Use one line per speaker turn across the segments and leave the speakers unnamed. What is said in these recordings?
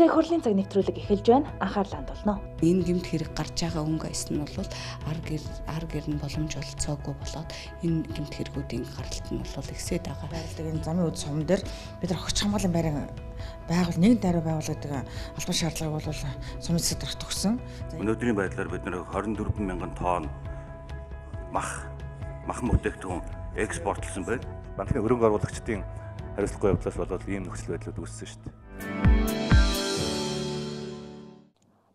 Улсын их хурлын цаг нэвтрүүлэг эхэлж байна. Анхаарлаа хандуулно.
Энэ гэмт хэрэг гарч байгаа өнгө айсан нь бол ар гэр нь боломж олцоогүй болоод энэ гэмт хэрэгүүдийн гаралт нь бол ихсээд байгаа.
Байрладаг энэ замын үд сум дээр бид нар хогч хамгааллын байран нэг даруй байгуулдаг албан шаардлагыг бол сумын засаг дарга төгсөн.
Өнөөдрийн байдлаар бид нар 24 мянган тонн мах бүтээгдэхүүн экспортлсон байна.
Банкны хөрөнгө оруулагчдын хариуцлагагүй явдлаас болоод ийм нөхцөл байдлууд үүссэн шүү дээ.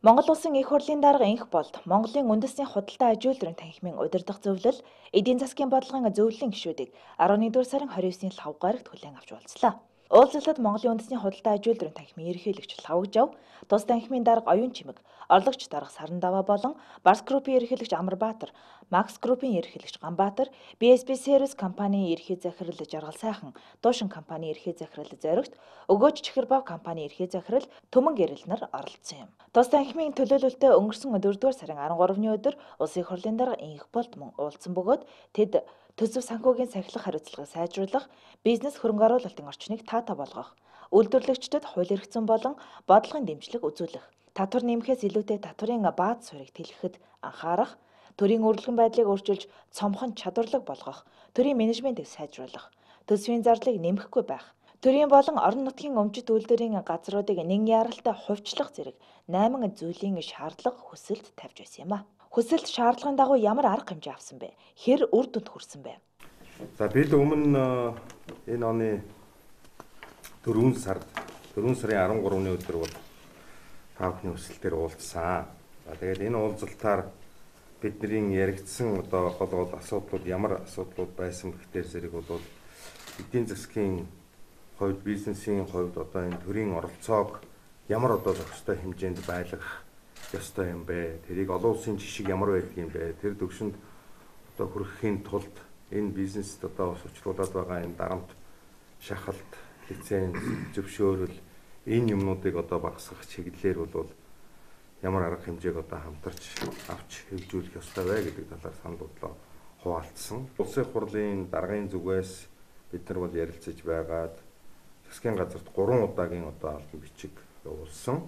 Монгол Улсын их хурлын дарга инх болд Монголын үндэсний худалдаа аж үйлдвэрийн танхимын удирдах зөвлөл эдийн засгийн бодлогын зөвлөлийн гишүүдийг 11-р сарын 29-ний лхав гарагт хүлээн авч уулзлаа. Уулзалтад Монголын үндэсний худалдаа аж үйлдвэрийн танхимын ерөнхийлөгч Лхавгжав, тус танхимын дарга Оюун Чимэг, орлогч дарга Сарандава болон Барс группийн ерөнхийлөгч Амарбаатар, Макс группийн ерөнхийлөгч Ганбаатар, BSB Service компанийн ерхий захирал Жаргал сайхан, Дуушин компанийн ерхий захирал Зоригт, Өгөөж Чихэрбав компанийн ерхий захирал Төмөн Гэрэл нар оролцсон юм. Тус танхимын төлөөлөлтөд өнгөрсөн 4-р сарын 13-ны өдөр Улсын их хурлын дарга инх болд мөн уулзсан бөгөөд тэд төсөв санхүүгийн сахилах хариуцлагыг сайжруулах, бизнес хөрөнгө оруулалтын орчныг таатай болгох, үйлдвэрлэгчдэд хууль эрх зүйн болон бодлогын дэмжлэг үзүүлэх, татвар нэмэхээс илүүтэй татварын бааз суурийг тэлэхэд анхаарах, төрийн үргэлжлэн байдлыг өөрчилж цомхон чадварлаг болгох, төрийн менежментийг сайжруулах, төсвийн зардлыг нэмэхгүй байх, төрийн болон орон нутгийн өмчит үйлдвэрийн газруудыг нэгэн яралтай хувьчлах зэрэг 8 зүйлийн шаардлага хүсэлт тавьж байсан юм а. Хүсэлт шаардлагын дагуу ямар арга хэмжээ авсан бэ? Хэр үр дүнд хүрсэн бэ?
За бид өмнө энэ оны 4 сарын 13-ны өдөр бол таавхны хүсэлтээр уулзсан. За тэгээд энэ уулзалтаар бидний яригдсан гол асуудлууд ямар асуудлууд байсан гэхээр зэрэг бол эдийн засгийн хувьд, бизнесийн хувьд энэ төрийн оролцоог ямар зохистой хэмжээнд байлгах ёстой юм бэ? Тэрийг олон улсын жишг ямар байдаг юм бэ? Тэр төвшөнд хүрэхийн тулд энэ бизнест учруулад байгаа энэ дарамт, шахалт, лиценз, зөвшөөрөл энэ юмнуудыг багасгах чиглэлээр бол ямар арга хэмжээг хамтарч авч хөгжүүлэх ёстой вэ гэдэг талаар санал бодлоо хуваалцсан. Улсын их хурлын даргын зүгээс бид нар ярилцаж байгаад засгийн газарт 3 удаагийн албан бичиг явуулсан.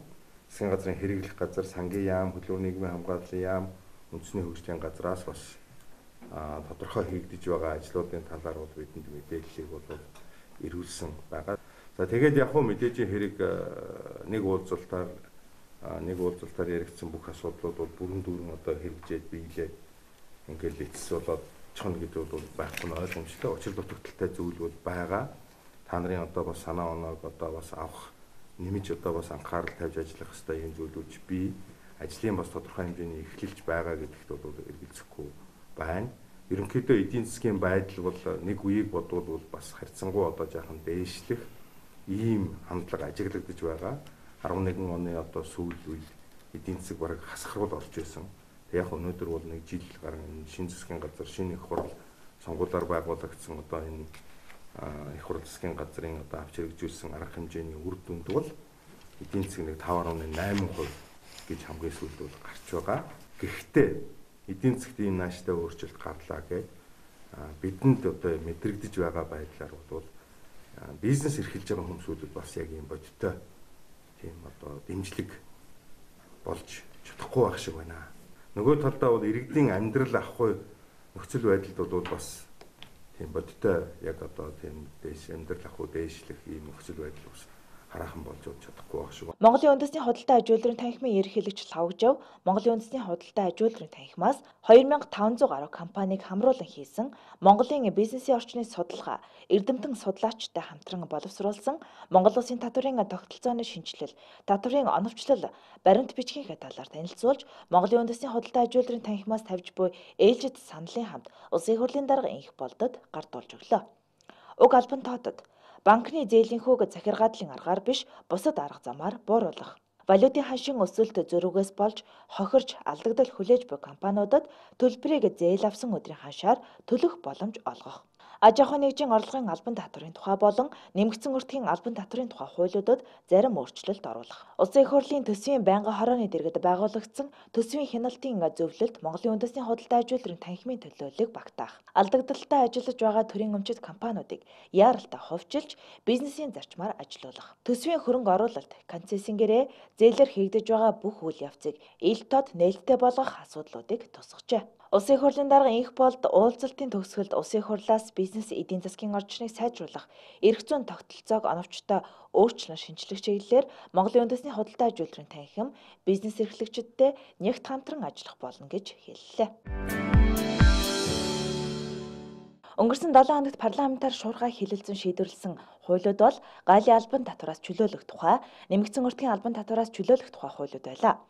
Засгийн газрын хэрэглэх газар, сангийн яам, хөдөлгөөний нийгмийн хамгааллын яам, үндэсний хөгжлийн газраас бас тодорхой хийгдэж байгаа ажлуудын талаар бидэнд мэдээллийг ирүүлсэн байгаа. За тэгээд яг хөө мэдээж хэрэг нэг уулзалтаар яригдсан бүх асуудлууд бүрэн дүүрэн хэрэгжээд биелээ ингээл эцэс болоод чоно гэдэг бол байхгүй нь ойлгомжтой. Учир дутагдaltaй зүйл бол байгаа. Та нарын бас санаа оноог бас авах, нэмж бас анхаарал тавьж ажиллах хэрэгтэй юм зүйлүүд би ажлын бас тодорхой хэмжээний эхлэлж байгаа гэдэгт эргэлзэхгүй байна. Ерөнхийдөө эдийн засгийн байдал бол нэг үеийг бодвол бас харьцангуй жаахан дээшлэх ийм хандлага ажиглагдаж байгаа. 11 оны сүүл үед эдийн засаг бараг хасахрал орж ирсэн. Тэг яг өнөөдөр бол нэг жил гарan шинэ засгийн газар, шинэ их хурл сонгуулиар байгуулагдсан энэ их хурл засгийн газрын авч хэрэгжүүлсэн арга хэмжээний үр дүнд бол эдийн засгийн 5.8% гэж хамгийн сүүлд гарч байгаа. Гэхдээ эдийн засгт ийм нааштай өөрчлөлт гарлаа гэж бидэнд мэдрэгдэж байгаа байдлаар бол бизнес эрхэлж байгаа хүмүүсүүдэд бас яг ийм бодиттой тийм дэмжлэг болж чадахгүй байх шиг байна. Нөгөө талдаа бол иргэдийн амьдрал ахгүй нөхцөл байдалд бол бас тийм бодиттой яг тийм дээш амьдрал ахгүй дээшлэх ийм нөхцөл байдал бас хараахан болж чадахгүй байх шиг.
Монголын үндэсний худалдаа аж үйлдвэрийн танхимын ерөнхийлөгч Лхавгжав, Монголын үндэсний худалдаа аж үйлдвэрийн танхимаас 2500 гаруй компанийг хамруулан хийсэн Монголын бизнесийн орчны судалгаа, эрдэмтэн судлаачтай хамтран боловсруулсан Монгол Улсын татварын тогтолцооны шинжилэл, татварын оновчлол, баримт бичгийн талаар танилцуулж, Монголын үндэсний худалдаа аж үйлдвэрийн танхимаас тавьж буй ээлжид саналын хамт Улсын их хурлын дарга инх болдод гардуулж өглөө. Уг албан тоотод банкны зээлийн хүүг захиргааллын аргаар биш бусад арга замаар бууруулах, валютын ханшийн өсөлт зөрүүгээс болж хохирч алдагдал хүлээж буй компаниудад төлбөрийг зээл авсан өдрийн ханшаар төлөх боломж олгох, Аж ахуйн нэгжийн орлогын албан татврын тухай болон нэмэгдсэн өртгийн албан татврын тухай хуулиудад зарим өөрчлөлт оруулах. Улсын их хурлын төсвийн байнгын хорооны дэргэд байгуулагдсан төсвийн хяналтын зөвлөлд Монголын үндэсний худалдаа ажилтнуудын танхимын төлөөллийг багтаах. Алдагдaltaй ажиллаж байгаа төрийн өмчит компаниудыг яаралтай хувьчилж бизнесийн зарчмаар ажилуулах. Төсвийн хөрөнгө оруулалт, концессингээрээ зээлэр хийгдэж байгаа бүх үйл явцыг ил тод нээлттэй болгох асуудлуудыг тусгажээ. Улсын их хурлын дарга инх болд уулзалтын төгсгөлд улсын их хурлаас бизнес эдийн засгийн орчныг сайжруулах, эрх зүйн тогтолцоог оновчтой өөрчлөн шинжлэх чиглэлээр Монголын үндэсний худалдаа ажилтнуудын танхим бизнес эрхлэгчидтэй нягт хамтран ажиллах болно гэж хэллээ. Өнгөрсөн 7 хоногт парламентаар шуургай хэлэлцэн шийдвэрлсэн хуулиуд бол галийн албан татвараас чөлөөлөх тухай, нэмэгдсэн өртгийн албан татвараас чөлөөлөх тухай хуулиуд байлаа.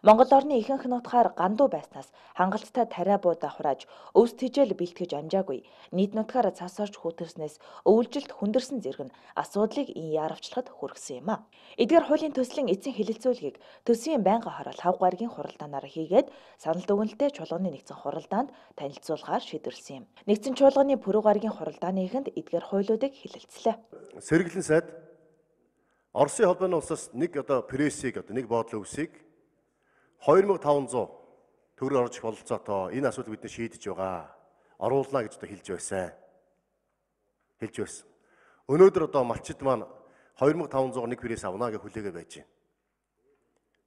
Монгол орны ихэнх нутгаар гандуу байснаас хангалттай тариа буу давхрааж өвс тэжээл бэлтгэж амжаагүй. Нийт нутгаар цас орж хүүтэрснээс өвөлжилт хүндэрсэн зэрэг нь асуудлыг ин яарвчлахад хүргэсэн юм а. Эдгээр хуулийн төслийн эцсийн хэлэлцүүлгийг төсвийн байнгын хорол 5 гаригийн хуралдаанаар хийгээд санал дүгнэлтээ чуулганы нэгдсэн хуралдаанд танилцуулгаар шийдвэрлсэн юм. Нэгдсэн чуулганы пүрэв гаригийн хуралдааны эхэнд эдгээр хуулиудыг хэлэлцлээ.
Сэргэлэн сайд Оросын холбооны улсаас нэг прессийг нэг бодлого өвсийг 2500 төгрөг орж бололцоотой энэ асуудал бидний шийдэж байгаа. Оруулна гэж хэлж байсан. Өнөөдөр малчид маань 2500 нэг пресс авна гэж хүлээгээ байж байна.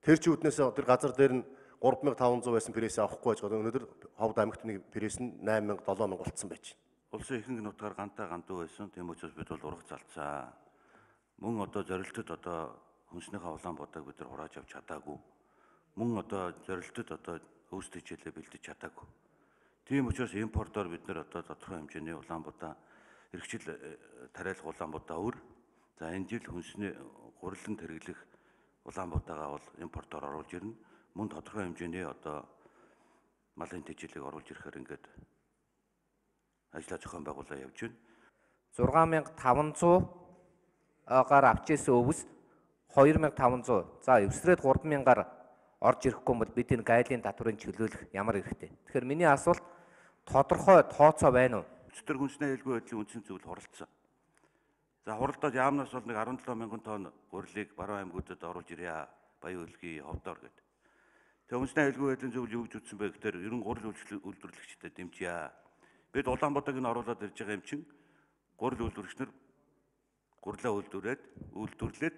Тэр чи үднээс тэр газар дээр нь 3500 байсан пресс авахгүй байж байгаа. Өнөөдөр Ховд аймагт нэг пресс нь 8000 7000 болцсон байж байна.
Улсын ихэнх нутгаар гандуу байсан. Тийм учраас бид бол урах залцаа. Мөн зорилтод хүнснийхээ улаанбуудыг бид нар хурааж авч чадаагүй. Мөн зорилтод өвс тэжээлээ бэлдэж чадаагүй. Тийм учраас импортоор бид нар тодорхой хэмжээний улаанбуудаа эрхчил тариалах улаанбуудаа өр. За энэ жил хүнсний гурилан хэрэглэх улаанбуудаагаа бол импортоор оруулж ирнэ. Мөн тодорхой хэмжээний малын тэжээлийг оруулж ирэхээр ингээд ажлаа зохион байгуулалт явж байна.
6500-аар авч ирсэн өвс 2500. За эвсрээд 3000-аар орж ирэхгүй бол бид энэ гайлын татврын чөлөөлөх ямар эрхтэй. Тэгэхээр миний асуулт тодорхой тооцоо байна уу?
Өчтөр хүнсний аюулгүй байдлын үндсэн зөвлөл хуралдсан. За хуралдаад яамнаас бол нэг 17,000 тонн гурилыг баруун аймагуудад оруулж ирье. Баян хөлгийн ховдоор гэдэг. Тэгээ хүнсний аюулгүй байдлын зөвлөл юу гэж үтсэн бэ гэхээр ерөн гурил үйлдвэрлэгчдэд дэмжье. Бид Улаанбаатарыг нь оруулаад ирж байгаа юм чин гурил үйлдвэрчнэр гурилаа үйлдвэрлээд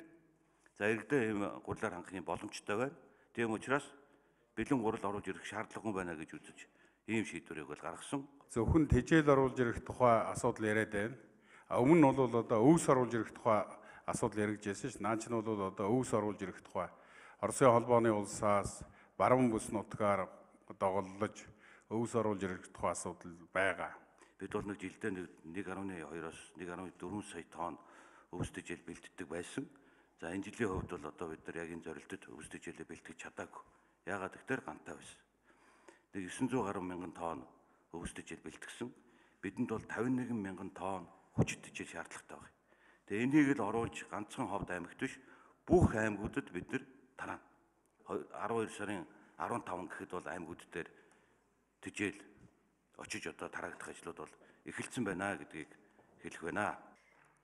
за иргэдээ ийм гурилаар хангах юм боломжтой байна. Тийм учраас бэлэн гурил оруулж ирэх шаардлагагүй байна гэж үзэж ийм шийдвэрийг бол гаргасан.
Зөвхөн тэжээл оруулж ирэх тухай асуудал яриад байна. Өмнө нь бол өвс оруулж ирэх тухай асуудал яригджсэн ш. Наа чинь бол өвс оруулж ирэх тухай Оросын холбооны улсаас баруун бүс нутгаар доголлож өвс оруулж ирэх тухай асуудал байгаа.
Бид бол нэг жилдээ 1.2-оос 1.4 сая тонн өвс тэжээл бэлддэг байсан. За энэ жилийн хувьд бол бид нар яг энэ зорилтод өвс тэжээлээ бэлтгэж чадаагүй. Яагаад гэвэл гантай байсан. Нэг 900 гаруй мянган тонн өвс тэжээл бэлтгэсэн. Бидэнд бол 51 мянган тонн хүчит тэжээл шаардлагатай байна. Тэгээ энийг л оруулж ганцхан Ховд аймагт биш бүх аймагуудад бид нар тараана. 12 сарын 15 гэхэд бол аймагуд дээр тэжээл очиж тараагдах ажлууд бол эхэлсэн байна гэдгийг хэлэх байна.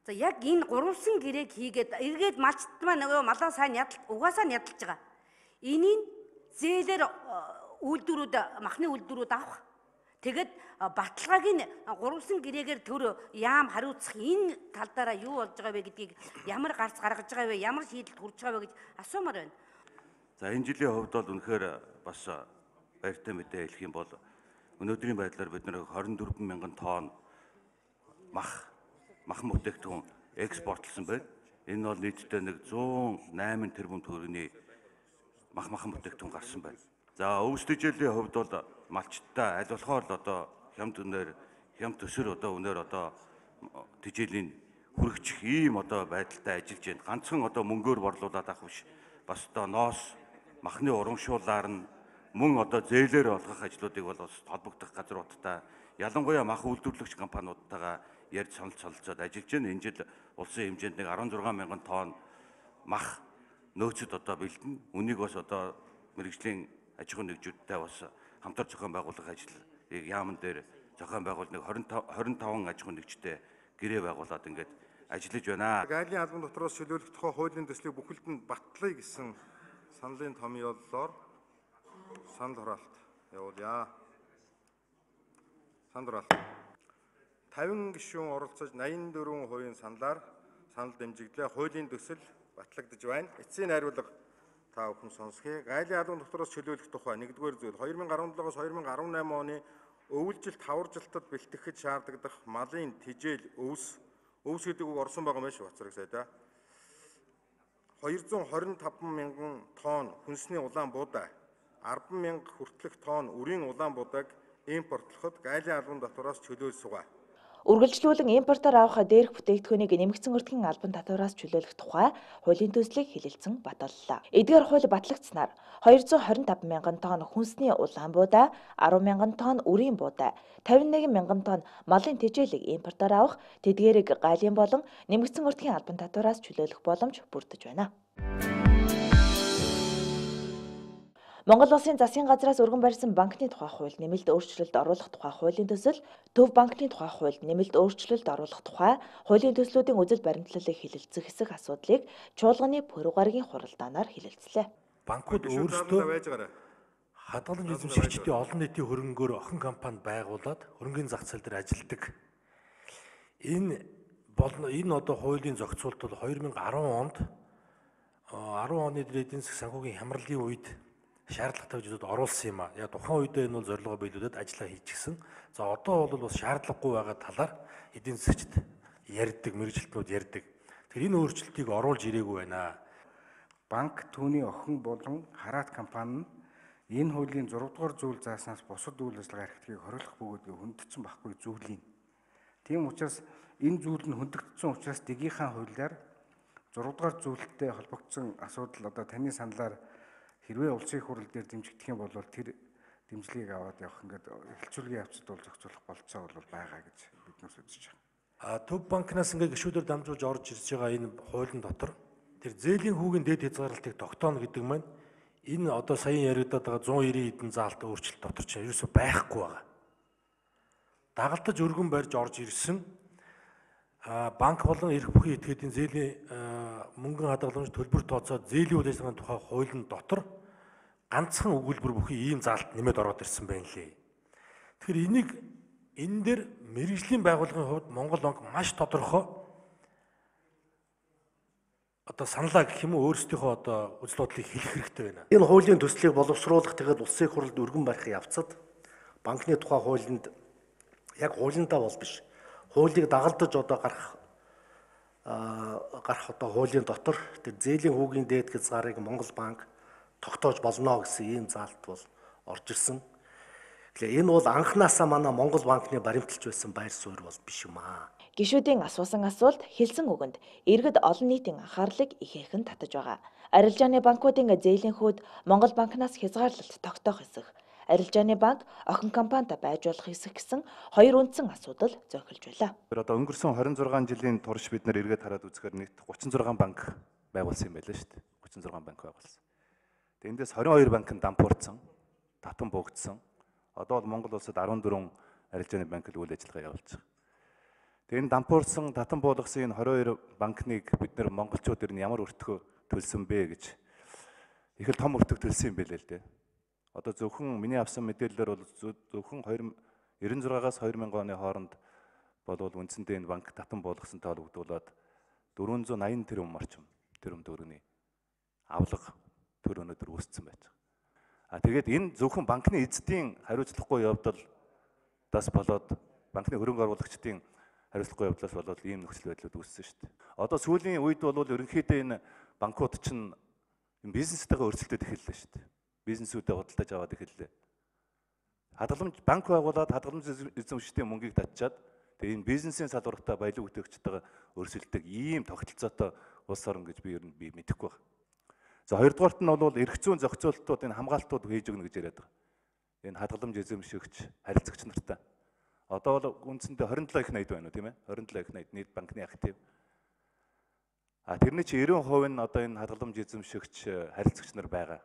За яг энэ гурвалсан гэрээг хийгээд эргээд малчт маань нөгөө малаа сайн угаасаа ядалж байгаа. Энийг зээлэр махны үйлдвэрүүд авах. Тэгэд баталгааг нь гурвалсан гэрээгээр төр яам хариуцах энэ тал дараа юу болж байгаа вэ гэдгийг ямар гарц гаргаж байгаа вэ, ямар шийдэлд хүрч байгаа вэ гэж асуумаар байна.
За энэ жилийн хувьд бол үнэхээр бас баяртай мэдээ хэлэх юм бол өнөөдрийн байдлаар бид нэр 24 мянган тонн мах бүтээгдэхүүн экспортлсон байна. Энэ бол нийтдээ нэг 108 тэрбум төгрөгийн махан бүтээгдэхүүн гарсан байна. За өвс тэжээлийн хувьд бол малчтаа аль болохоор л хямд төсөр өнөр тэжээлийн хүрэгчих ийм байдалтай ажиллаж байна. Ганцхан мөнгөөр борлуулаад авах биш. Бас ноос махны урамшуулаар нь мөн зээлээр олгох ажлуудыг бол холбогдох газруудтай ялангуяа мах үйлдвэрлэгч компаниудтайгаа ярьж солилцоод ажиллаж байна. Энэ жил улсын хэмжээнд нэг 16 мянган тонн мах нөөцөд бэлдэнэ. Үнийг бас мэргэжлийн аж ахуйн нэгжүүдтэй бас хамтар зохион байгуулах ажлыг яамн дээр зохион байгуул нэг 25 аж ахуй нэгжтэй гэрээ байгуулад ингээд ажиллаж байна.
Гайлийн албан дотроос чөлөөлөх тухай хуулийн төслийг бүхэлд нь батлая гэсэн саналын томьёоллоор санал хураалт явуулъя. Санал хураалт. 50 гишүүн оролцож 84% саналаар санал дэмжигдлээ. Хуулийн төсөл батлагдж байна. Эцсийн найруулга та бүхэн сонсхий. Гайлийн албан дотроос чөлөөлөх тухай 1-р зүйл 2017-оос 2018 оны өвөлжилт таваржилтад бэлтгэхэд шаардлагадах малын тижэл өвс гэдэг үг орсон байгаа юм шиг бацраг сайда. 225 мянган тонн хүнсний улаан буудаа, 10 мянга хүртэлх тонн үрийн улаан буудааг импортлоход гайлийн албан дотроос чөлөөлж сугаа.
Үргэлжлүүлэн импортоор авах дээрх бүтээгдэхүүнийг нэмэгдсэн өртгийн албан татвараас чөлөөлөх тухай хуулийн төслийг хэлэлцэн баталлаа. Эдгээр хууль батлагдсанаар 225 мянган тонн хүнсний улаан буудаа, 10 мянган тонн үрийн буудаа, 51 мянган тонн малын тэжээлийг импортоор авах, тэдгээрийг гайлийн болон нэмэгдсэн өртгийн албан татвараас чөлөөлөх боломж бүрдэж байна. Монгол Улсын засгийн газраас өргөн барьсан банкны тухай хууль нэмэлт өөрчлөлт оруулах тухай хуулийн төсөл, төв банкны тухай хууль нэмэлт өөрчлөлт оруулах тухай хуулийн төслүүдийн үзэл баримтлалыг хэлэлцэх хэсэг асуудлыг чуулганы пүрэв гарагийн хуралдаанаар хэлэлцлээ.
Банкуд өөрсдөө хадгалан эзэмшигчдийн олон нийтийн хөрөнгөөр охин компани байгуулад хөрөнгөний зах зээл дээр ажилладаг. Энэ одоо хуулийн зохицуулт бол 2010 онд 10 оны эдийн засгийн санхүүгийн хямралын үед шаардлагатай зүйлүүд оруулсан юм а. Яг тухайн үедээ энэ бол зорилгоо биелүүлээд ажиллаа хийчихсэн. За одоо бол бас шаардлагагүй байгаа талаар эдийн засгчд ярьдаг, мэргэжилтнүүд ярьдаг. Тэгэхээр энэ өөрчлөлтийг оруулж ирээгүй байна.
Банк түүний охин болон хараат компани нь энэ хуулийн 6 дугаар зүйл зааснаас бусад үйл ажиллагаа эрхтгийг хориглох бөгөөдгөө хүндэтсэн байхгүй зүйлийн. Тийм учраас энэ зүйл нь хүндэгдсэн учраас дээгийнхаа хуулиар 6 дугаар зүйлтэй холбогдсон асуудал одоо таны саналаар хэрвээ улсын их хурал дээр дэмжигдэх юм бол тэр дэмжлэгийг аваад явах ингээд эхлэлцүүлгийн явцад бол зохицуулах болцоо бол байгаа гэж биднээс үзэж байгаа.
Төв банкнаас ингээд гишүүдээр дамжуулж орж ирж байгаа энэ хуулийн дотор тэр зээлийн хүүгийн дэд хязгаарлалтыг тогтооно гэдэг маань энэ одоо саяхан яригадаад байгаа 190 хэдэн заалт өөрчлөлт дотор чинь ерөөсөй байхгүй байгаа. Дагалдаж өргөн барьж орж ирсэн банк болон эрх бүхий этгээдийн зээлийн мөнгөн хадгаламж төлбөр тооцоод зээлийн үйл ажиллагааны тухай хуулийн дотор ганцхан өгүүлбэр бүхий ийм заалт нэмээд ороод ирсэн байна лээ. Тэгэхээр энийг энэ дээр мэргэжлийн байгууллагын хувьд Монгол банк маш тодорхой одоо саналаа гэх юм уу өөрсдийнхөө одоо үзэл бодлыг хэлэх хэрэгтэй байна.
Энэ хуулийн төслийг боловсруулах тэгээд улсын их хурлд өргөн барих явцад банкны тухай хуулинд яг хуулиндаа бол биш. Хуулийг дагалдаж одоо гарах одоо хуулийн дотор тэр зээлийн хүүгийн дээд хязгаарыг Монгол банк тогтоож болно гэсэн ийм заалт бол орж ирсэн. Тэгэхээр энэ бол анхнаасаа манай Монгол банкны баримталж байсан байр суурь бол биш юм аа.
Гишүүдийн асуусан асуулт хэлсэн үгэнд иргэд олон нийтийн анхаарлыг ихээхэн татаж байгаа. Арилжааны банкуудын зээлийн хүүд Монгол банкнаас хязгаарлалт тогтоох хэсэг. Арилжааны банк охин компанитай байж болох хэсэг гэсэн хоёр үндсэн асуудал зохилж байлаа.
Одоо өнгөрсөн 26 жилийн турш бид нэр эргээд хараад үзэхээр нийт 36 банк байгуулсан юм байлаа шүү дээ. 36 банк байгуулсан. Тэгээ эндээс 22 банк нь дампуурсан, татан буугдсан. Одоо бол Монгол улсад 14 арилжааны банк л үйл ажиллагаа явуулж байгаа. Тэгээ энэ дампуурсан, татан буулгасан энэ 22 банкныг бид нэр монголчууд ер нь ямар өртгөө төлсөн бэ гэж их л том өртөг төлсөн юм байлээ л дээ. Одоо зөвхөн миний авсан мэдээлэлээр бол зөвхөн 1996-аас 2000 оны хооронд болвол үндсэндээ энэ банк татан буулгасантай холбогдуулаад 480 тэрбум орчим тэрбум төгрөгийн авлага төр өнөдөр үүссэн байж байгаа. Тэгээд энэ зөвхөн банкны эзэдийн хариуцлагагүй явдалдаас болоод банкны хөрөнгө оруулагчдын хариуцлагагүй явдлаас болоод ийм нөхцөл байдлууд үүссэн шүү дээ. Одоо сүүлийн үед бол ерөнхийдөө энэ банкуд чинь бизнестэйгээ өрсөлдөд эхэллээ шүү дээ. Бизнесүүдэд худалдаж аваад эхэллээ. Хадгаламж банк байгуулад хадгаламж эзэмшигчдийн мөнгийг татчаад тэгээ энэ бизнесийн салбартаа баялаг бүтээгчтэйгээ өрсөлдөг ийм тогтолцоотой улс орн гэж би ер нь мэдэхгүй байна. За хоёрдугаарт нь бол эрх зүйн зохицуултууд энэ хамгаалтууд хийж өгнө гэж яриад байгаа. Энэ хадгаламж эзэмшигч харилцагч нартай. Одоо бол үндсэндээ 27 их найд байна уу тийм ээ? 27 их найд нийт банкны актив. Тэрний чи 90% нь одоо энэ хадгаламж эзэмшигч харилцагч нар байгаа.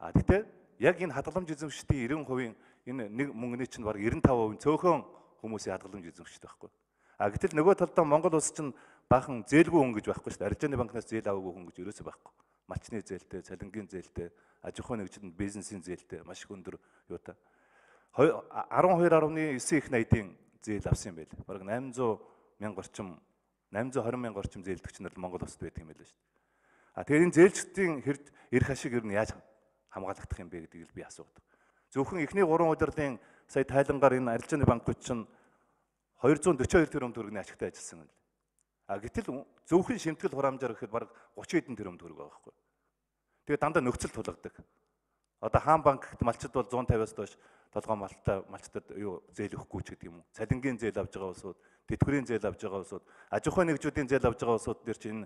Гэхдээ яг энэ хадгаламж эзэмшигчдийн 90%
Энэ нэг мөнгөний чинь баг 95% цөөхөн хүмүүсийн хадгаламж эзэмшдэг байхгүй. Гэтэл нөгөө талдаа Монгол улс чинь баахан зээлгүй хүн гэж байхгүй шүү дээ. Арилжааны банкнаас зээл аваагүй хүн гэж ерөөсөө байхгүй. Малчны зээлтэй, цалингийн зээлтэй, аж ахуйн нэгжид бизнесийн зээлтэй маш их өндөр юутай. 12.9 их найдын зээл авсан юм байл. Бараг 800 мянга орчим 820 мянга орчим зээлдэгч нар Монгол улсад байдаг юм байл шүү дээ. Тэгэхээр энэ зээлчдийн эрх ашиг ер нь яаж хамгаалагдах юм бэ гэдгийг би асуудаг. Зөвхөн эхний 3 удирлын сая тайлангаар энэ арилжааны банкуд чинь 242 тэрбум төгрөгийн ашигтай ажилласан юм. Гэтэл зөвхөн шимтгэл хураамжаар гэхэд бараг 30 хэдэн тэрбум төгрөг байгаа байхгүй. Тэгээ дандаа нөхцөл тулгадаг. Одоо хаан банкт малчид бол 150-аас доош толгой малчдад юу зээл өгөхгүй ч гэдэг юм уу. Цалингийн зээл авж байгаа улсууд, тэтгэврийн зээл авж байгаа улсууд, аж ахуйн нэгжүүдийн зээл авж байгаа улсууд дээр чинь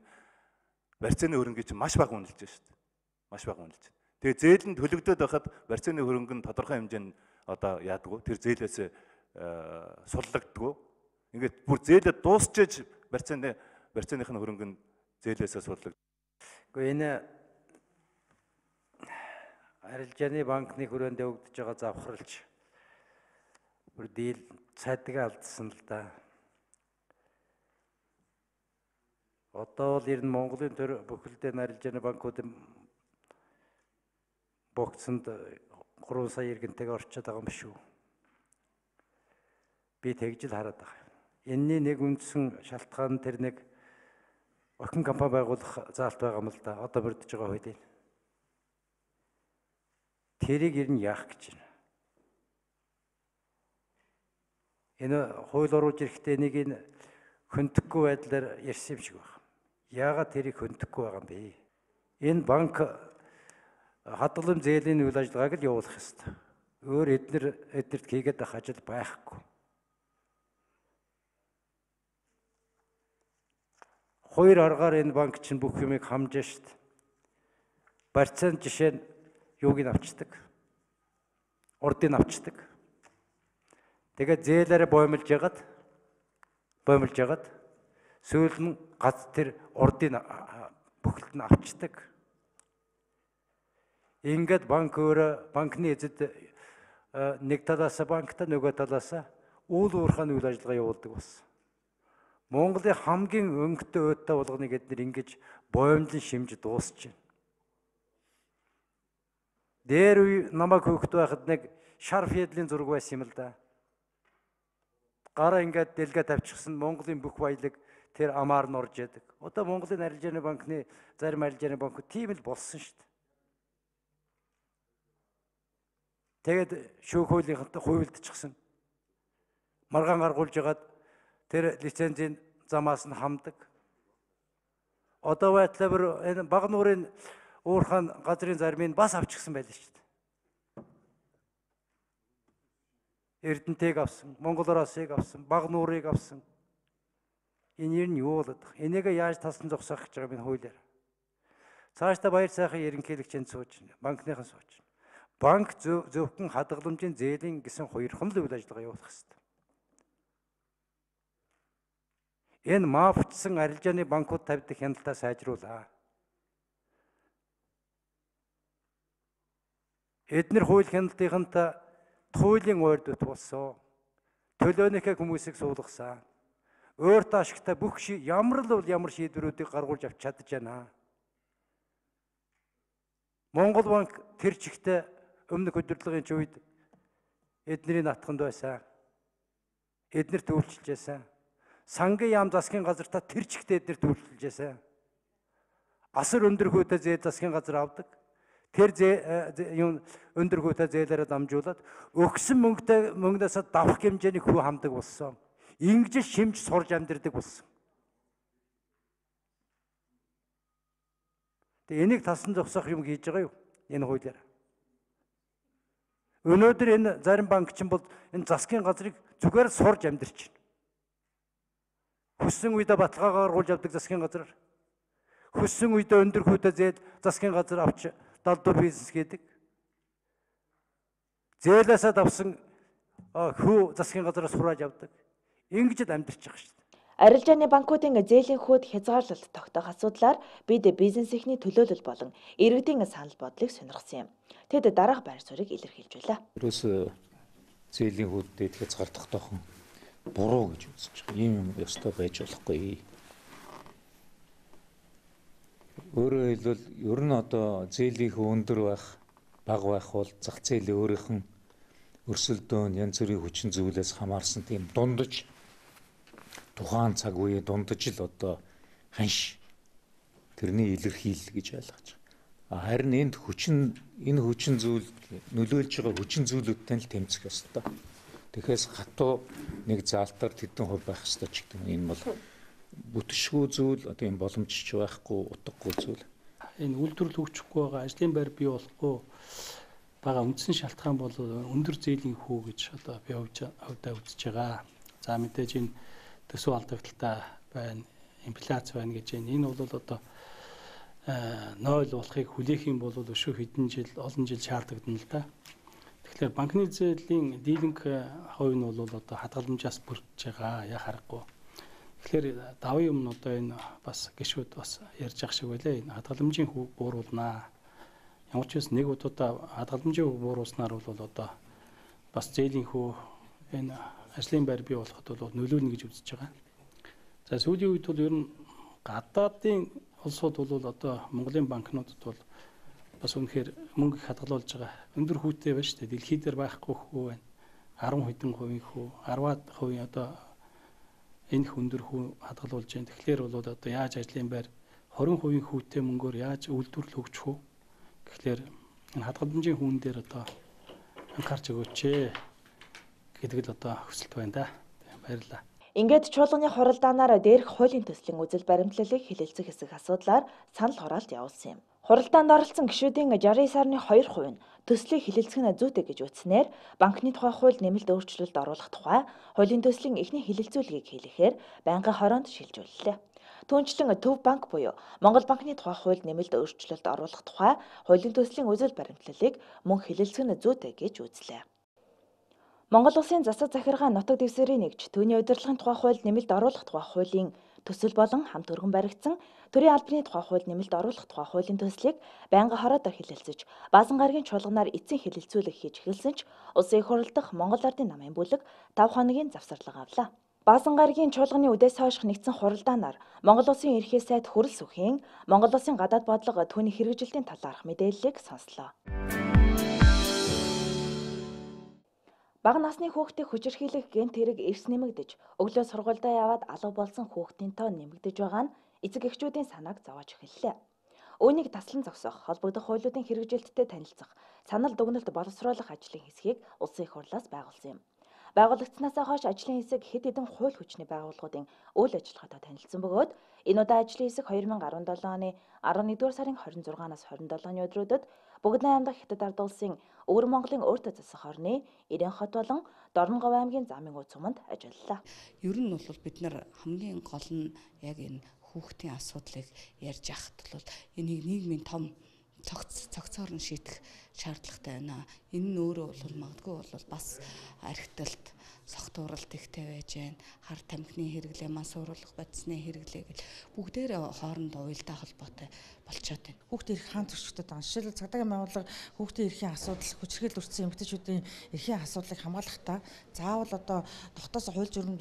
барьцааны хөрөнгө чинь маш бага үнэлж шүү дээ. Маш бага үнэлж. Тэгээ зээл нь төлөгдөд байхад барьцааны хөрөнгө нь тодорхой хэмжээнд одоо яадаггүй. Тэр зээлээс суллагддаггүй. Ингээд бүр зээлээ дуусчиж барьцааных нь хөрөнгө нь зээлээсээ суллагддаг.
Гэхдээ энэ арилжааны банкны хүрээнд өгдөж байгаа завхралч бүр дийл цайдгаа алдсан л да. Одоо бол ер нь Монголын төр бүхэлдээ арилжааны банкуудын богцонд 3 сая иргэнтэйг орчод байгаа юм шүү. Би тэгж л хараад байгаа. Энэний нэг үндсэн шалтгаан тэр нэг охин компани байгуулах заалт байгаа юм л да. Одоо бүрдэж байгаа хуулийг. Тэрийг ер нь яах гэж байна. Энэ хууль оруулж ирэхдээ нэг энэ хөндөхгүй байдлаар ярьсан юм шиг байна. Яагаад тэрийг хөндөхгүй байгаа юм бэ? Энэ банк хадгалам зээлийн үйл ажиллагааг л явуулах ёстой. Өөр эднэрт хийгээд байх ажил байхгүй. Хоёр аргаар энэ банк чинь бүх юмыг хамжаа штт. Барьцааны жишээ нь юуг нь авчдаг? Урдыг авчдаг. Тэгээд зээлээрээ боомлж ягаад сүүл нь гац тэр урдыг бүхэлд нь авчдаг. Ингээд банк өөрөө банкны эзэд нэг талаас банктай нөгөө талаас үйл уурхайн үйл ажиллагаа явуулдаг болсон. Монголын хамгийн өнгөтэй өдтэй болгоныг эдгээр ингэж боомлон шимж дуусч байна. Дээр үе намайг хөөхд байхад нэг шар федлийн зураг байсан юм л да. Гараа ингээд дэлгээ тавьчихсан Монголын бүх баялаг тэр амаар нь орж яадаг. Одоо Монголын арилжааны банкны зарим арилжааны банкуд тийм л болсон шүү дээ. Тэгээд шүүх хуулийнхантай хуйлдчихсан. Маргаан гаргуулж ягаад тэр лицензийн замаас нь хамдаг. Одоо байтлаар энэ баг нуурын уурхайн газрын зармыг бас авчихсан байлаа шүү дээ. Эрдэнэтэйг авсан, Монголороосыг авсан, баг нуурыг авсан. Энэ нь юу болоод байна? Энийг яаж тасан зогсоох гэж байгаа юм хуулиар. Цаашдаа баяр сайхан ерөнхийлөгчөнд сууж, банкныхан сууж. Банк зөвхөн хадгаламжийн зээлийн гэсэн хоёрхан л үйл ажиллагаа явуулах хэрэгтэй. Энэ мафчсан арилжааны банкуд тавьдаг хяналтаа сайжруулаа. Эднэр хууль хяналтынхантай хуулийн ойрд болсон. Төлөөнийхөө хүмүүсийг суулгасан. Өөртөө ашигтай бүх ямар шийдвэрүүдийг гаргуулж авч чадж байна. Монгол банк тэр чигтээ өмнөх удирдлагын үед эднэрийн натханд байсан. Эднэр төлөвлөж байсан. Сангийн яам засгийн газартаа тэр чигтээ эднэр төлөвлөж байсан. Асар өндөр хөөтэй зээл засгийн газар авдаг. Тэр өндөр хөөтэй зээлээрээ дамжуулаад өгсөн мөнгнөөс давах хэмжээний хүү хамдаг болсон. Ингэж шимж сурж амьдэрдэг болсон. Тэгээ энийг тасан зогсоох юм хийж байгаа юу? Энэ хуулиар. Өнөөдөр энэ зарим банкчин бол энэ засгийн газрыг зүгээр сурж амьдарч байна. Хүссэн үедээ баталгаагаар гаргуулж авдаг засгийн газар. Хүссэн үедээ өндөр хөөтэй зээл засгийн газар авч далдуур бизнес хийдэг. Зээлээсээ давсан хүү засгийн газараас хурааж авдаг. Ингэж амьдарч байгаа шүү дээ.
Арилжааны банкуудын зээлийн хүүд хязгаарлалт тогтоох асуудлаар бид бизнес эхний төлөөлөл болон иргэдийн санал бодлыг сонирхсан юм. Тэд дараах байр суурийг илэрхийлж байлаа.
Ерөөсөө зээлийн хүүддээ хязгаардахтайхан буруу гэж үзэж байгаа. Ийм юм ёстой байж болохгүй. Өөрөөр хэлбэл ер нь одоо зээлийн хүү өндөр байх, бага байх бол зах зээлийн өөрийнх нь өрсөлдөөн янз бүрийн хүчин зүйлээс хамаарсан тийм дундаж тухайн цаг үеэ дундаж л одоо ханш тэрний илэрхийлэл гэж ойлгож байгаа. Харин энэ хүчин зүйл нөлөөлж байгаа хүчин зүйлүүдтэй л тэмцэх ёстой. Тэгэхээс хатуу нэг заалтаар тэдэн хувь байх ёстой ч гэдэг нь энэ бол бүтшгүй зүйл одоо юм боломжч байхгүй утгагүй зүйл.
Энэ үйлдвэрлэл хөгжихгүй байгаа ажлын байр бий болохгүй байгаа үндсэн шалтгаан бол өндөр зээлийн хүү гэж одоо би хувьдаа үзэж байгаа. За мэдээж энэ төсөв алдагдaltaй байна, инфляц байна гэж байна. Энэ бол одоо 0 болохыг хүлээх юм бол өшөө хэдэн жил, олон жил шаардлагдан л да. Тэгэхээр банкны зээлийн дийлэнх хувь нь бол одоо хадгаламжаас бүрдэж байгаа. Яа харахгүй. Тэгэхээр давын өмнө одоо энэ бас гişүүд бас ярьж ах шиг байлаа. Энэ хадгаламжийн хүү бууруулнаа. Ямар ч нэг удаа хадгаламжийн хүү бууруулснаар бол одоо бас зээлийн хүү энэ ажлын байр бий болоход бол нөлөөлнө гэж үзэж байгаа. За сүүлийн үед бол ер нь гадаадын улсууд бол одоо Монголын банкнуудад бол бас үнэхээр мөнгө их хадгалуулж байгаа. Өндөр хүүтэй байна шүү дээ. Дэлхийд дээр байхгүй хүү байна. 10 хэдэн хувийн хүү, 10-аад хувийн одоо энэ өндөр хүү хадгалуулж байна. Тэгэхээр бол одоо яаж ажлын байр 20% хүүтэй мөнгөөр яаж үйлдвэрлэл хөгжих вэ? Тэгэхээр энэ хадгаламжийн хүүн дээр одоо анхаарч өгөөч гэдэг л одоо хүсэлт байна да. Баярлалаа.
Ингээд чуулганы хуралдаанаар дээрх хуулийн төслийн үзэл баримтлалыг хэлэлцэх хэсэг асуудлаар санал хураалт явуулсан юм. Хуралдаанд оролцсон гишүүдийн 69 сарны 2% нь төслийг хэлэлцэх нь зүйтэй гэж үзснээр банкны тухай хууль нэмэлт өөрчлөлт оруулах тухай хуулийн төслийн эхний хэлэлцүүлгийг хийлэхээр байнгын хороонд шилжүүллээ. Түүнчлэн Төв банк буюу Монгол банкны тухай хууль нэмэлт өөрчлөлт оруулах тухай хуулийн төслийн үзэл баримтлалыг мөн хэлэлцэх нь зүйтэй гэж үзлээ. Монгол Улсын засаг захиргаан нутаг дэвсгэрийн нэгж түүний удирдлагын тухай хууль нэмэлт оруулах тухай хуулийн төсөл болон хамт өргөн баригдсан төрийн албаны тухай хууль нэмэлт оруулах тухай хуулийн төслийг байнгын хороодоор хэлэлцэж, баазан гарагийн чуулганаар эцсийн хэлэлцүүлэг хийж эхэлсэн ч улсын их хурал дахь Монгол Ардын намын бүлэг 5 хоногийн завсарлага авлаа. Баазан гарагийн чуулганы үдээс хойш нэгдсэн хуралдаанаар Монгол Улсын ерхий сайд Хүрэл Сүхийн Монгол Улсын гадаад бодлого түүний хэрэгжилтийн талаарх мэдээллийг сонслоо. Бага насны хүүхдийг хүчирхийлэх гэмт хэрэг эрс нэмэгдэж, өглөө сургуульдаа яваад алга болсон хүүхдийн тоо нэмэгдэж байгаа нь эцэг эхчүүдийн санааг зовоож эхэллээ. Үүнийг таслан зогсоох, холбогдох хуулиудын хэрэгжилттэй танилцах, санал дүгнэлт боловсруулах ажлын хэсгийг улсын их хурлаас байгуулсан юм. Байгуулагдсанаас хойш ажлын хэсэг хэд хэдэн хууль хүчний байгууллагуудын үйл ажиллагаатай танилцсан бөгөөд энэ удаа ажлын хэсэг 2017 оны 11-р сарын 26-наас 27-ны өдрүүдэд Бүгд найрамдах Хятад ард улсын Өвөр Монголын өөртөө засах орны Ирэн хот болон Дорноговь аймгийн замын үе цуманд ажиллалаа.
Ер нь бол бид нар хамгийн гол нь яг энэ хүүхдийн асуудлыг ярьж яхад бол энийг нийгмийн том цогцоор нь шийдэх шаардлагатай байна. Энэ нь өөрөө бол магадгүй бол бас архиталт согтууралт ихтэй байж байна. Хар тамхины хэрэглээ, мас уруулах бодисны хэрэглээ гэл бүгдээрээ хоорондоо уялдаа холбоотой болчиход байна.
Хүүхдийн эрх хаан зөрчигдөд байгаа. Жишээлбэл цагдаагийн байгууллага хүүхдийн эрхийн асуудал, хүчирхийлэл өртсөн эмэгтэйчүүдийн эрхийн асуудлыг хамгаалахдаа заавал одоо дотоос хууль журам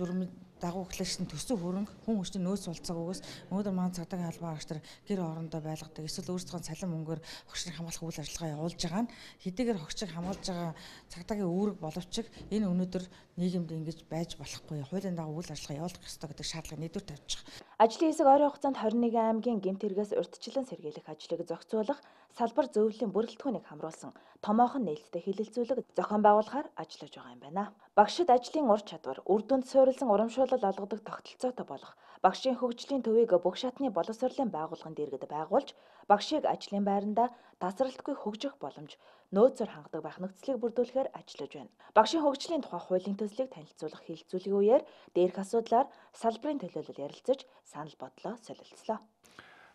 дагуу эхлэжсэн төсөв хөрөнгө хүн хүчний нөөц болцоогоос өнөөдөр маань цагдаагийн албан агч нар гэр орондоо байлгадаг эсвэл өөрсдөө цалин мөнгөөр хогчрыг хамгаалах үйл ажиллагаа явуулж байгаа нь хэдийгээр хогчрыг хамгаалж байгаа цагдаагийн үүрэг боловч энэ өнөөдөр нийгэмд ингэж байж болохгүй хуулийн дагуу үйл ажиллагаа явуулах ёстой гэдэг шаардлагыг нийлүүр тавьж байгаа.
Ажлын хэсэг ойрын хугацаанд 21 аймгийн гэмт хэрэгээс урьдчилан сэргийлэх ажлыг зохицуулах, салбар зөвлөлийн бүрэлдэхүүнийг хамруулсан томоохон нээлттэй хэлэлцүүлэг зохион байгуулахаар ажиллаж байгаа юм байна. Багшид ажлын ур чадвар, үр дүнд суурилсан урамшуулал олгодог тогтолцоотой болох багшийн хөгжлийн төвийг бүх шатны боловсролын байгууллагын дэргэд байгуулж, багшийг ажлын байранда тасралтгүй хөгжих боломж, нөөцөөр хангадаг байх нөхцөлийг бүрдүүлэхээр ажиллаж байна. Багшийн хөгжлийн тухай хуулийн төслийг танилцуулах хэлэлцүүлгийн үеэр дээрх асуудлаар салбарын төлөөлөл ярилцаж санал бодлоо солилцлоо.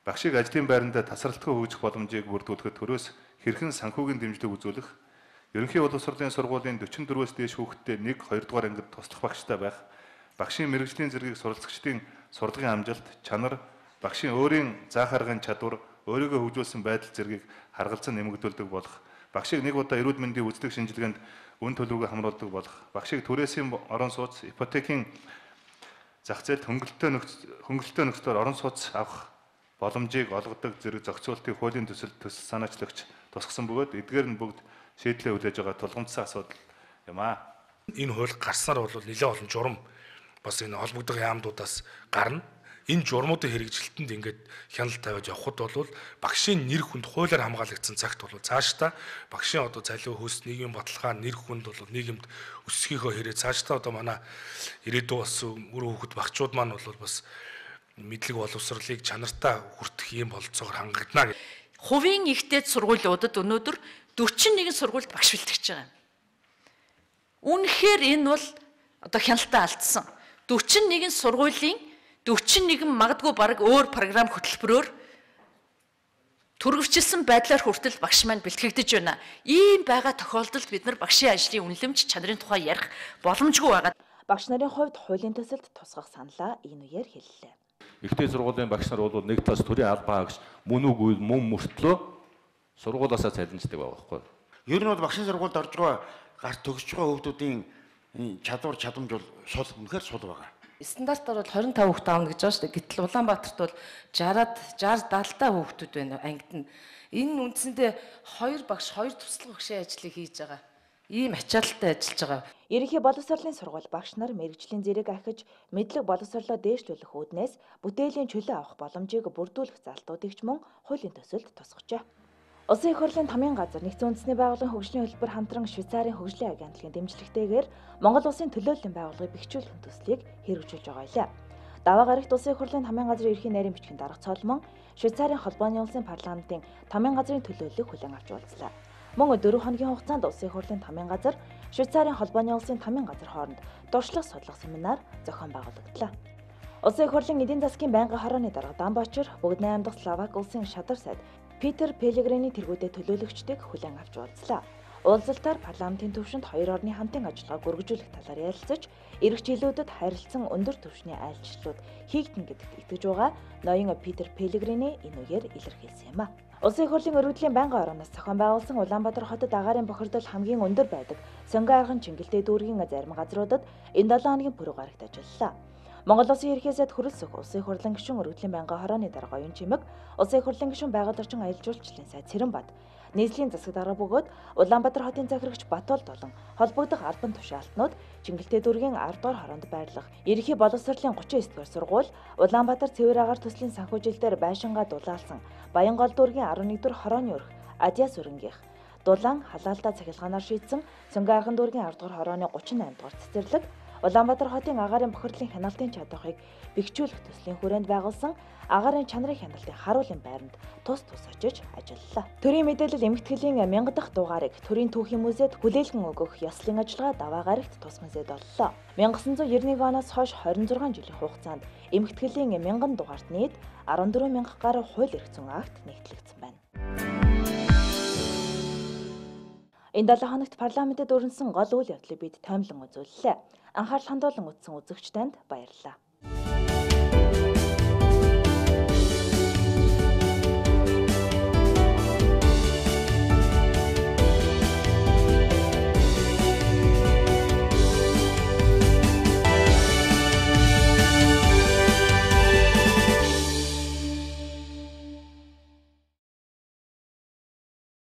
Багшийг ажлын байранда тасралтгүй хөгжих боломжийг бүрдүүлэхэд төрөөс хэрхэн санхүүгийн дэмжлэг үзүүлэх, ерөнхий боловсролын сургуулийн 44-өөс дээш хүүхэдтэй 1-2 дугаар ангид туслах багштай байх, багшийн мэрэгжлийн зэргийг суралцагчдын сурлагын амжилт, чанар, багшийн өөрийн заах аргын чадвар, өөрийгөө хөгжүүлсэн байдал зэргийг харгалзан нэмэгдүүлдэг болох, багшийг нэг удаа эрүүл мэндийн үзлэг шинжилгээнд үн төлөвийг хамруулдаг болох, багшийг түрээсийн орон сууц, ипотекийн зах зээлд хөнгөлөлтөө нөхцөлөөр орон сууц авах боломжийг олгодог зэрэг зохицуултыг хуулийн төсөл санаачлагч тусгасан бөгөөд эдгээр нь бүгд шийдлээ хүлээж байгаа тулгымдсан асуудал юм аа.
Энэ хууль гарснаар бол нэлээд олон журам бас энэ холбогдох яамдуудаас гарна. Энэ журмуудын хэрэгжилтэнд ингээд хяналт тавиад явхад бол багшийн нэр хүнд хуулиар хамгаалагдсан цагт бол цаашдаа багшийн одоо цалин хөөс нийгмийн баталгаа нэр хүнд бол нийгэмд өсөхийнхөө хэрэг цаашдаа одоо манай ирээдүйн бас үр хөвгөт багчууд маань бол бас мэдлэг боловсролыг чанартай хүртэх ийм болцоогоор хангагдана.
Хувийн ихтэй сургуулиудад өнөөдөр 41 сургуульд багш бэлтгэж байгаа юм. Үнэхээр энэ бол одоо хяналтаа алдсан. 41 сургуулийн 41 магадгүй бараг өөр програм хөтөлбөрөөр түргэвчилсэн байдлаар хүртэл багш маань бэлтгэгдэж байна. Ийм байгаа тохиолдолд бид нар багшийн ажлын үнэлэмж чанарын тухай ярих боломжгүй байгаа.
Багш нарын хувьд хуулийн төсөлд тусгах саналаа энэ үеэр хэллээ.
Ихтэй сургуулийн багш нар бол нэг талаас төрийн албаа гэж мөн үгүй мөн мөртлөө сургуулиасаа цалинждаг байгаа байхгүй.
Ер нь бол багшийн сургуульд орж байгаа гарт төгсөж байгаа хүүхдүүдийн чадвар чадамж бол сул үнэхээр сул байгаа.
Стандартаар бол 25 хүүхэд аавна гэж байгаа шүү дээ. Гэтэл Улаанбаатарт бол 60-70 та хүүхдүүд байна ангид нь. Энэ нь үндсэндээ 2 багш 2 туслах багшийн ажлыг хийж байгаа. Ийм ачаалттай ажиллаж байгаа.
Ерөнхий боловсролын сургууль багш нар мэрэгжлийн зэрэг ахиж мэдлэг боловсролоо дээшлүүлэх үүднээс бүтээлийн чөлөө авах боломжийг бүрдүүлэх залтуудыг ч мөн хуулийн төсөлд тусгажээ. Улсын их хурлын тамийн газар Нэгдсэн үндэсний байгууллагын хөгжлийн хөтөлбөр хамтран Швейцарын хөгжлийн агентлагийн дэмжлэгтэйгээр Монгол Улсын төлөөллийн байгууллагыг бэхжүүлэх төслийг хэрэгжүүлж байгаа юм. Даваа гарагт Улсын их хурлын тамийн газрын ерхий нарийн бичгийн дарга цолмон Швейцарын холбооны улсын парламентын тамийн газрын төлөөллийг хүлээн авч уулзлаа. Мөн 4 хоногийн хугацаанд Улсын их хурлын тамийн газар Швейцарын холбооны улсын тамийн газар хооронд туршлага судлах семинар зохион байгуулагдлаа. Улсын их хурлын эдийн засгийн байнгын хорооны дарга Дамбаачир бүгд 8 дахь Словак улсын шадар сайд Питер Пелегрини тэргүүдэд төлөөлөгчдийг хүлээн авч уулзлаа. Уулзалтаар парламентын түвшинд хоёр орны хамтын ажиллагааг үргэлжлүүлэх талаар ярилцаж, ирэх жилүүдэд харилцан өндөр түвшний айлчлалууд хийгдэнэ гэдэгт итгэж байгаа ноён Питер Пелегрини энэ үеэр илэрхийлсэн юм а. Улсын их хурлын өргөдлийн байнгын орооноос зохион байгуулсан Улаанбаатар хотод агаарын бохирдол хамгийн өндөр байдаг Сонгон арган Чингэлтэй дүүргийн зарим газруудад энэ 7 хоногийн пүрэв гарагт ажиллалаа. Монгол Улсын ерхий сайд хөрөлсөх Улсын их хурлын гишүүн өргөдлийн байнгын хорооны дарга Оюун Чимэг, Улсын их хурлын гишүүн байгаль орчин аялал жуулчлалын сайд Цэрэнбат, нийслэлийн засаг дарга бөгөөд Улаанбаатар хотын захирагч Батбол болон холбогдох албан тушаалтнууд Чингэлтэй дүүргийн 10 дугаар хороонд байрлах ерхий боловсролын 39 дугаар сургууль, Улаанбаатар цэвэр агаар төслийн санхүүжилтээр байшингаа дулаалсан Баянгол дүүргийн 11 дугаар хорооны өрх Адьяа сүрэнгийнх дулаан халаалтаа цахилгаанаар шийдсэн Сонгон арган дүүргийн 10 дугаар хорооны 38 дугаар цэцэрлэг Улаанбаатар хотын агаарын бохирлын хяналтын чадварыг бэхжүүлэх төслийн хүрээнд байгуулсан агаарын чанарын хяналтын харуулын байранд тус очиж ажиллалаа. Төрийн мэдээлэл эмэгтгэлийн 1000 дахь дугаарыг төрийн түүхийн музейд хүлээлгэн өгөх ёслын ажиллагаа даваа гарагт тусган зэд боллоо. 1991 оноос хойш 26 жилийн хугацаанд эмэгтгэлийн 1000 дугаарт нийт 14000 гаруй хууль эрх зүйн акт нэгтлэгдсэн байна. Энэ 7 хоногт парламентэд өрнөсөн гол үйл явдлыг бид таймлан үзүүллээ. Анхаарал хандуулан үзсэн үзэгч танд баярлалаа.